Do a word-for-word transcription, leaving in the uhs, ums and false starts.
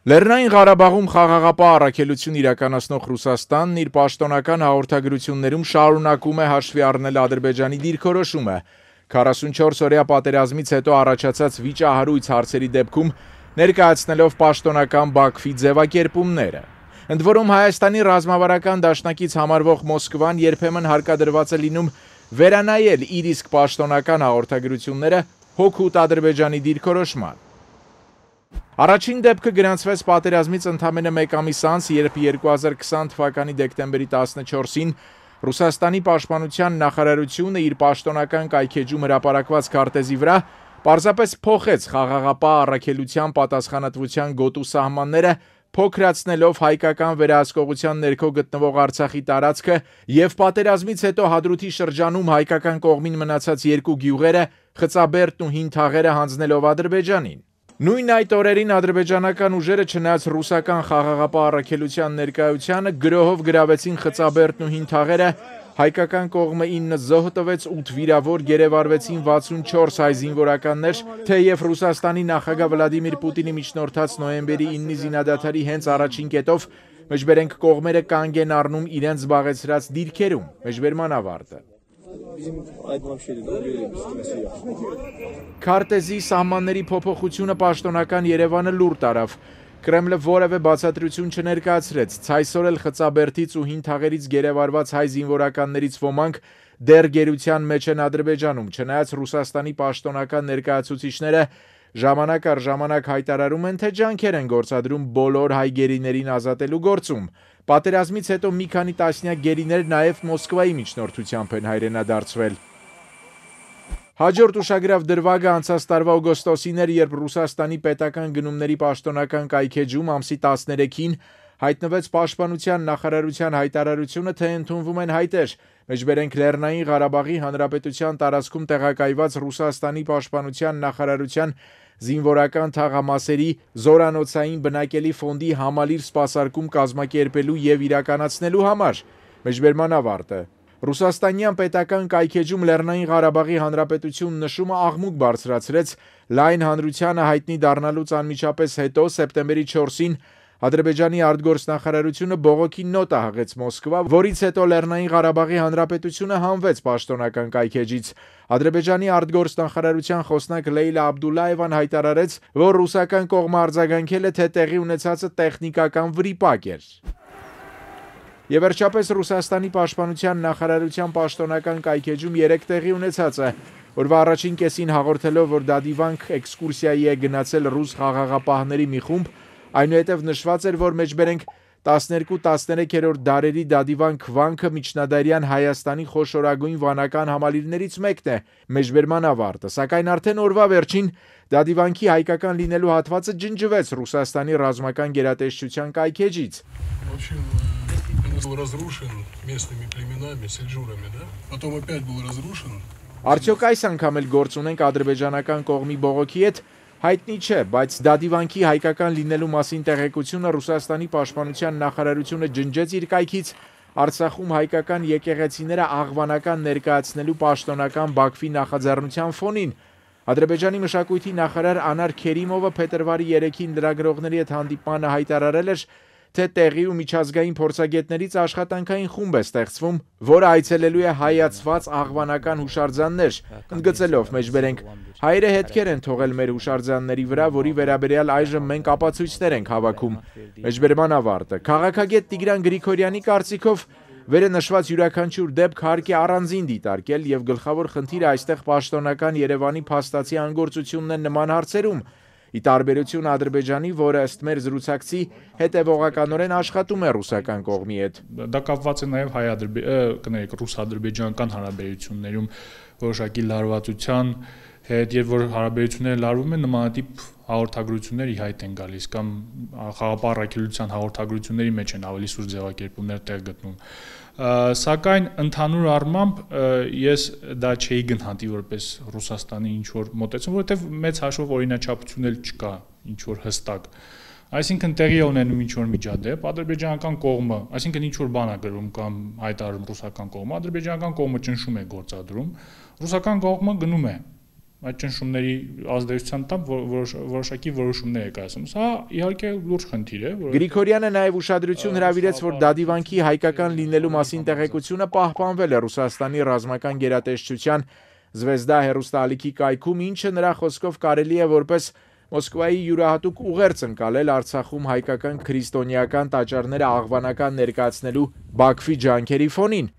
Լեռնային Ղարաբաղում խաղաղապահ առաքելություն իրականացնող Ռուսաստանն իր պաշտոնական հաղորդագրություններում շարունակում է հաշվի առնել Ադրբեջանի դիրքորոշումը։ քառասունչորս օրյա պատերազմից հետո առաջացած վիճահարույց հարցերի դեպքում ներկայացնելով պաշտոնական Բաքվի ձևակերպումները։ Ընդ որում Հայաստանի ռազմավարական դաշնակից համարվող Մոսկվան երբեմն հարկադրված է լինում վերանայել իր իսկ պաշտոնական հաղորդագրությունները հօգուտ Ադրբեջանի դիրքորոշման։ Առաջին դեպքը գրանցվեց պատերազմից ընդամենը մեկ ամիս անց, երբ երկու հազար քսան թվականի դեկտեմբերի տասնչորսին Ռուսաստանի պաշտպանության նախարարությունը իր պաշտոնական կայքեջում հրապարակված քարտեզի վրա պարզապես փոխեց խաղաղապահ առաքելության պատասխանատվության գոտու սահմանները, փոքրացնելով հայկական վերահսկողության ներքո գտնվող Արցախի տարածքը եւ պատերազմից հետո Հադրութի շրջանում հայկական կողմին մնացած երկու գյուղերը Խծաբերդն ու Հին Թաղերը հանձնելով Ադրբեջանին։ Նույն այդ օրերին ադրբեջանական ուժերը չնայած ռուսական խաղաղապահ առաքելության ներկայությանը գրոհով գրավեցին Խծաբերդն ու Հին Թաղերը, հայկական կողմը ինը զոհ տվեց, ութ վիրավոր, գերեվարվեցին վաթսունչորս հայ զինվորականներ, թեև Ռուսաստանի նախագահ Վլադիմիր Պուտինի միջնորդած նոյեմբերի ինը զինադադարի հենց առաջին կետով մեջբերենք կողմերը կանգ են առնում իրենց զբաղեցրած դիրքերում, մեջբերման ավարտը։ Քարտեզի սահմանների փոփոխությունը պաշտոնական Երևանը լուր տարավ։ Կրեմլը որևէ բացատրություն չներկայացրեց, ցայսօր էլ Խծաբերդից ու Հին Թաղերից գերեվարված հայ զինվորականներից ոմանք դեռ գերության մեջ են Ադրբեջանում, չնայած Ռուսաստանի պաշտոնական ներկայացուցիչները ժամանակ առ ժամանակ հայտարարում են, թե ջանքեր են գործադրում բոլոր հայ գերիներին ազատելու գործում։ Պատերազմից հետո մի քանի տասնյակ գերիներ նաև Մոսկվայի միջնորդությամբ են հայրենադարձվել։ Հաջորդ ուշագրավ դրվագը անցած տարվա օգոստոսին էր, երբ Ռուսաստանի պետական գնումների պաշտոնական կայքեջում ամսի տասներեքին հայտնվեց պաշտպանության նախարարության հայտարարությունը, թե ընդունվում են հայտեր, մեջբերենք Լեռնային Ղարաբաղի Հանրապետության տարածքում տեղակայված Ռուսաստանի պաշտպանության նախարարության զինվորական թաղամասերի զորանոցային բնակելի ֆոնդի համալիր սպասարկում կազմակերպելու եւ իրականացնելու համար, մեջբերման ավարտը։ Ռուսաստանյան պետական կայքեջում Լեռնային Ղարաբաղի Հանրապետություն նշումը աղմուկ բարձրացրեց լայն հանրությանը հայտնի դառնալուց անմիջապես հետո սեպտեմբերի չորսին Ադրբեջանի արտգործնախարարությունը բողոքի նոտ հղեց Մոսկվա, որից հետո Լեռնային Ղարաբաղի Հանրապետությունը հանվեց պաշտոնական կայքեջից։ Ադրբեջանի արտգործնախարարության խոսնակ Լեյլա Աբդուլլաևան հայտարարեց, որ ռուսական կողմը արձագանքել է, թե տեղի ունեցածը տեխնիկական վրիպակ էր։ Եվ վերջապես Ռուսաստանի պաշտպանության նախարարության պաշտոնական կայքեջում երեք տեղի ունեցածը, որվա առաջին կեսին հաղորդելով, որ դադիվանք էքսկուրսիայի է գնացել ռուս խաղաղապահների մի խումբ, այնուհետև նշված էր, որ մեջբերենք տասներկու տասներեքերորդ դարերի դադիվանք վանքը միջնադարյան Հայաստանի խոշորագույն վանական համալիրներից մեկն է, մեջբերման ավարտը, սակայն արդեն օրվա վերջին դադիվանքի հայկական լինելու հատվածը ջնջվեց Ռուսաստանի ռազմական գերատեսչության կայքեջից։ Был разрушен местными племенами, сельджурами, да? Потом опять был разрушен. Արդյոք այս անգամ էլ գործ ունենք ադրբեջանական կողմի բողոքի հետ, հայտնի չէ, բայց դադիվանքի հայկական լինելու մասին տեղեկությունը Ռուսաստանի պաշտպանության նախարարությունը ջնջեց իր կայքից Արցախում հայկական եկեղեցիները աղվանական ներկայացնելու պաշտոնական Բաքվի նախաձեռնության ֆոնին։ Ադրբեջանի մշակույթի նախարար Անար Քերիմովը փետրվարի երեքին լրագրողների հետ հանդիպմանը հայտարարել էր, թե տեղի ու միջազգային փորձագետներից աշխատանքային խումբ է ստեղծվում, որը այցելելու է հայացված աղվանական հուշարձաններ, ընդգծելով մեջբերենք հայերը հետքեր են թողել մեր հուշարձանների վրա, որի վերաբերյալ այժմ մենք ապացույցներ ենք հավաքում։ Մեջբերման ավարտը։ Քաղաքագետ Տիգրան Գրիգորյանի կարծիքով վերը նշված յուրաքանչյուր դեպք հարկ է առանձին դիտարկել եւ գլխավոր խնդիրը այստեղ պաշտոնական Երևանի փաստացի անգործությունն է նման հարցերում։ Ի տարբերություն Ադրբեջանի, որը ըստ մեր զրուցակցի հետևողականորեն աշխատում է ռուսական կողմի հետ։ Դա կապված է նաև հայ-ադրբեջանական, ռուս-ադրբեջանական հարաբերություններում որոշակի լարվածության հետ, եւ որ հարաբերությունները լարվում են, նմանատիպ հաղորդագրություններ ի հայտ են գալիս կամ խաղաղապահ առաքելության հաղորդագրությունների մեջ են ավելի սուր ձևակերպումներ տեղ գտնում։ Սակայն ընդհանուր առմամբ ես դա չէի գնահատի որպես Ռուսաստանի ինչ որ մոտեցում, որովհետև մեծ հաշվով օրինաչափություն էլ չկա ինչ որ հստակ։ Այսինքն տեղի է ունենում ինչ որ միջադեպ, ադրբեջանական կողմը, այսինքն ինչ որ բան է գրում կամ հայտարարում ռուսական կողմը, ադրբեջանական կողմը ճնշում է գործադրում, ռուսական կողմը գնում է այդ ճնշումների ազդեցության տակ որոշակի որոշումներ է կայացնում։ Սա իհարկե լուրջ խնդիր է, որ Գրիգորյանը նաև ուշադրություն հրավիրեց, որ Դադիվանքի հայկական լինելու մասին տեղեկությունը պահպանվել է Ռուսաստանի ռազմական գերատեսչության Զվեզդա հեռուստաալիքի կայքում, ինչը նրա խոսքով կարելի է որպես Մոսկվայի յուրահատուկ ուղերձ ընկալել Արցախում հայկական քրիստոնեական տաճարները աղվանական ներկայացնելու Բաքվի ջանքերի ֆոնին։